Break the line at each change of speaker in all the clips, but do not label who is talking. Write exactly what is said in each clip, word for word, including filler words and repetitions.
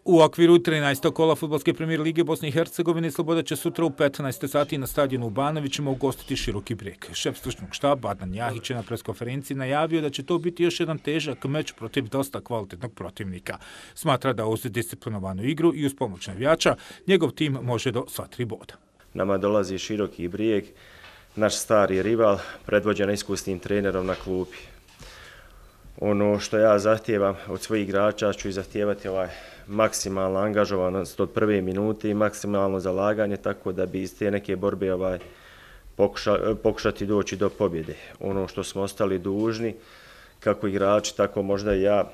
U okviru trinaestog kola Fudbalske premijer lige Bosne i Hercegovine Sloboda će sutra u petnaest sati na stadionu u Banovićima ugostiti Široki Brijeg. Šef stručnog štaba Adnan Jahić je na preskonferenciji najavio da će to biti još jedan težak meč protiv dosta kvalitetnog protivnika. Smatra da uz disciplinovanu igru i uz pomoć navijača njegov tim može do sva tri boda.
Nama dolazi Široki Brijeg, naš stari rival, predvođen iskusnim trenerom na klupi. Ono što ja zahtijevam od svojih igrača ću i zahtijevati ovaj maksimalna angažovanost od prve minute i maksimalno zalaganje, tako da bi iz te neke borbe ovaj, pokuša, pokušati doći do pobjede. Ono što smo ostali dužni, kako igrači, tako možda i ja,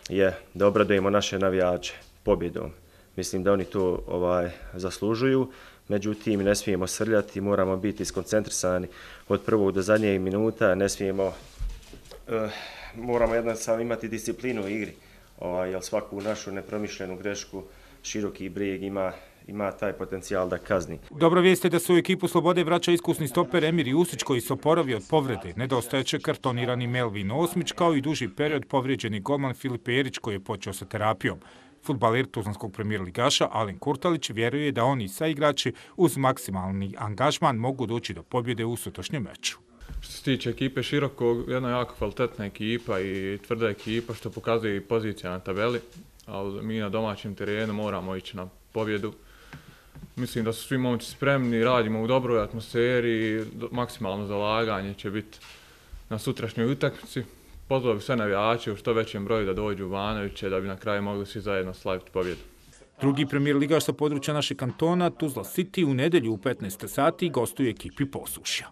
je da obradujemo naše navijače pobjedom. Mislim da oni to ovaj, zaslužuju, međutim ne smijemo srljati, moramo biti skoncentrisani od prvog do zadnjeg minuta, ne smijemo, uh, moramo jednostavno imati disciplinu u igri. Ovaj, jer svaku našu nepromišljenu grešku Široki Brijeg ima, ima taj potencijal da kazni.
Dobra vijest je da se u ekipu Slobode vraća iskusni stoper Emir Jusić koji se oporavio od povrede. Nedostajeće kartonirani Melvin Osmić kao i duži period povrijeđeni golman Filip Perić koji je počeo sa terapijom. Fudbaler tuzlanskog premijer ligaša Alen Kurtalić vjeruje da oni sa igrači uz maksimalni angažman mogu doći do pobjede u sutrašnjem meču.
Što se tiče ekipe Širokog, jedna jako kvalitetna ekipa i tvrda ekipa što pokazuje i pozicija na tabeli, ali mi na domaćem terenu moramo ići na pobjedu. Mislim da su svi momci spremni, radimo u dobroj atmosferi, maksimalno zalaganje će biti na sutrašnjoj utakmici. Pozvao bi sve navijače u što većem broju da dođu u Banoviće da bi na kraju mogli svi zajedno slaviti pobjedu.
Drugi premijer ligaš sa područja našeg kantona, Tuzla City, u nedjelju u petnaest sati gostuje ekipi Posušja.